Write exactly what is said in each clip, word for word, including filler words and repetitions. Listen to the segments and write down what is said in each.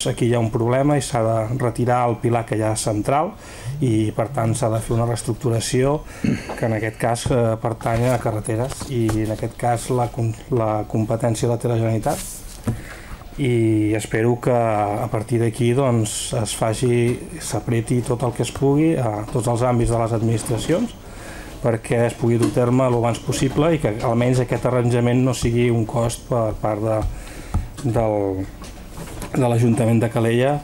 Aquí hi ha un problema i s'ha de retirar el pilar que hi ha central i per tant s'ha de fer una reestructuració que en aquest cas eh, pertany a carreteres i en aquest cas la, la competència la té la Generalitat i espero que a partir d'aquí doncs, es faci, s'apreti tot el que es pugui a tots els àmbits de les administracions perquè es pugui dur a terme el abans possible i que almenys aquest arranjament no sigui un cost per part de, del, de l'Ajuntament de Calella.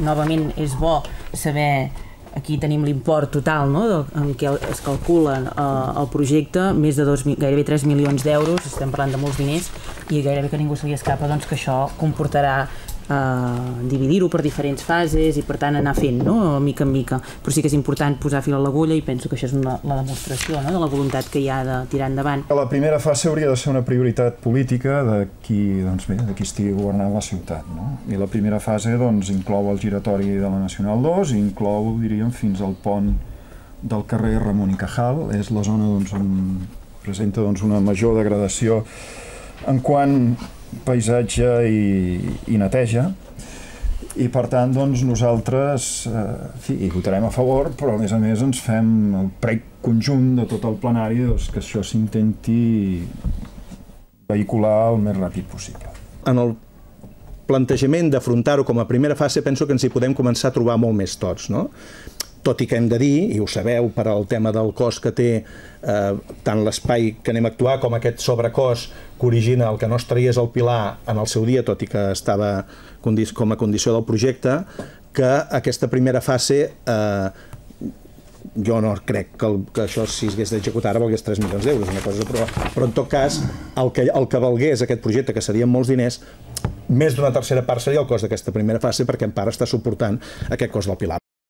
Novament és bo saber, aquí tenim l'import total no, en què es calcula eh, el projecte, més de dos, gairebé tres milions d'euros, estem parlant de molts diners i gairebé que ningú se li escapa doncs, que això comportarà eh, dividir-ho per diferents fases i per tant anar fent no, mica en mica, però sí que és important posar fil a l'agulla i penso que això és una, la demostració no, de la voluntat que hi ha de tirar endavant. La primera fase hauria de ser una prioritat política de qui, doncs bé, de qui estigui governant la ciutat. No? I la primera fase doncs, inclou el giratori de la Nacional dos i inclou, diríem, fins al pont del carrer Ramon i Cajal. És la zona doncs, on presenta doncs, una major degradació en quant paisatge i, i neteja i per tant doncs, nosaltres eh, fi, hi votarem a favor però a més a més ens fem el prec conjunt de tot el plenari doncs, que això s'intenti vehicular el més ràpid possible. En el plantejament d'afrontar-ho com a primera fase penso que ens hi podem començar a trobar molt més tots, no? Tot i que hem de dir, i ho sabeu per al tema del cost que té eh, tant l'espai que anem a actuar com aquest sobrecost que origina el que no es traiés el pilar en el seu dia, tot i que estava com a condició del projecte, que aquesta primera fase eh, jo no crec que, el, que això si es hagués d'executar ara valgués tres milions d'euros, una cosa, però, però en tot cas el que, el que valgués aquest projecte, que serien molts diners, més d'una tercera part seria el cost d'aquesta primera fase perquè en part està suportant aquest cost del pilar.